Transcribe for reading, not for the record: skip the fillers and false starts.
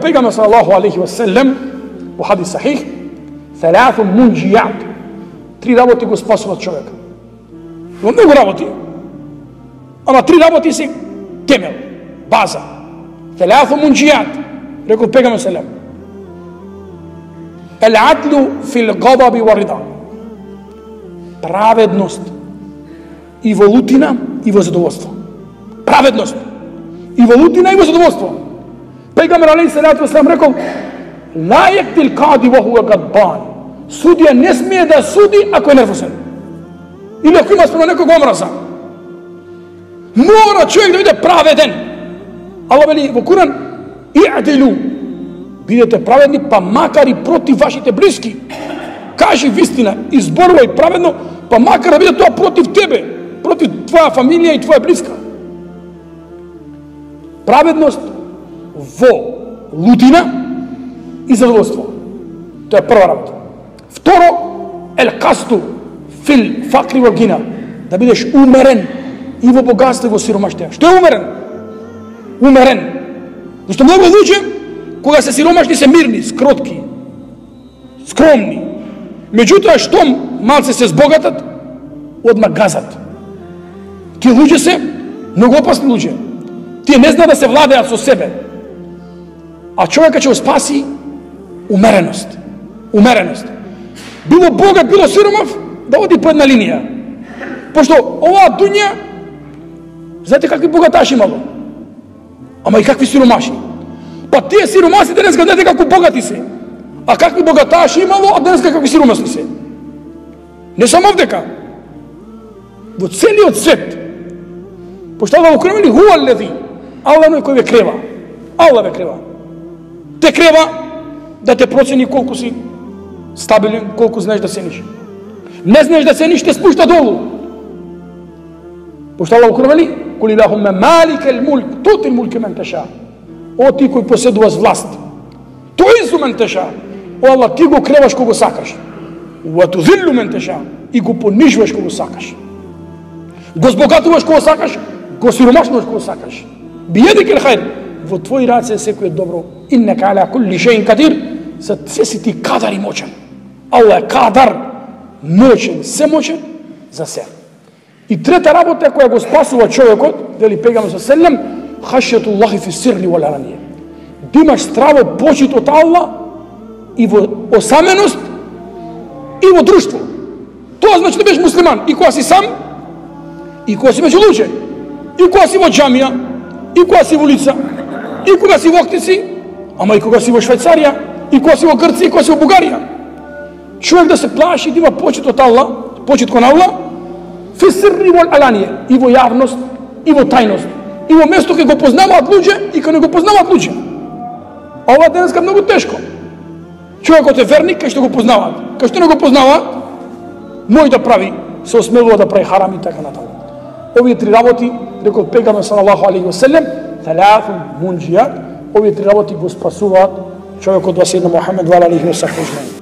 Pejgamberi sallallahu alaihi wasallam во хадис сахих, ثلاث منجيات, три работи го спасуваат човека. Во многу работи, ама три работи се темел, база. ثلاث منجيات, рекол Пегамбер салам. العدل في الغضب والرضا. Праведност и во лутина и во задоволство. Праведност и во лутина и во задоволство. Пегамбер алейхи салату вассалам рекол: لا يقتل القاضي وهو غضبان. Судија не смее да суди ако е нервозен. Или ако има спрема некој омраза. Мора човек да биде праведен. Аллах вели во Куран: "И'дилу", бидете праведни, па макар и против вашите блиски. Кажи вистина, изборувај праведно, па макар да биде тоа против тебе, против твоја фамилија и твоја блиска. Праведност во лутина и задоволство. Тоа е прва работа. Второ, el-qasdu fil faqri wal ghina, да бидеш умерен и во богатство и во сиромаштија. Што е умерен? Умерен. Зашто многу луѓе кога се сиромашни се мирни, скротки, скромни. Меѓутоа штом малце се збогатат, одма газат. Тие луѓе се многу опасни луѓе. Тие не знаат да се владеат со себе. А човека ќе го спаси умереност. Умереност. Било богат, било сиромав, да оди по една линија. Пошто оваа дуња, знаете какви богаташи имало? Ама и какви сиромаши. Па тие сиромаси денеска знаете како богати се. А какви богаташи имало, а денеска какви сиромасни се. Не само овдека. Во целиот свет. Пошто Аллах укремени хуа леди. Аллах е кој ве крева. Аллах ве крева. Те крева да те процени колку си стабилен, колку знаеш да цениш. Не знаеш да цениш, те спушта долу. Пошто Аллах укремени: "Кули лахумма маликал мулк, тутил мулка мен таша." О ти кој поседуваш власт, туизу мен таша. О Аллах, ти го креваш кого сакаш. Ва тузиллу мен таша, и го понижуваш кого сакаш. Го збогатуваш кого сакаш, го сиромашнуваш кого сакаш. Биедикил хајр, во твои раце секој е добро. Иннека ала кулли шејин кадир, се си ти кадар и мочен. Аллах е кадар, мочен, се мочен за се. И трета работа која го спасува човекот, вели Пегамбер селем, хашјатуллахи фи сирри вал аланија. Да имаш страво почит од Аллах и во осаменост и во друштво. Тоа значи да бидеш муслиман и кога си сам, и кога си меѓу луѓе, и кога си во џамија, и кога си во улица, и кога си во Охтици, ама и кога си во Швајцарија, и кога си во Грција, и кога си во Бугарија. Човек да се плаши да има почит од Аллах, почит кон Аллах, фи сирри вал аланија, и во јавност, и во тајност, и во место кај го познаваат луѓе и кај не го познаваат луѓе. А ова денеска многу тешко. Човекот е верник кај што го познаваат, кај што не го познаваат, мој да прави, се осмелува да прави харам и така натаму. Овие три работи, рекол Пегамбер салаллаху алейхи ва селем, ثلاث منجيات, овие три работи го спасуваат човекот во седна Мухамед ва алейхи ва сахбе.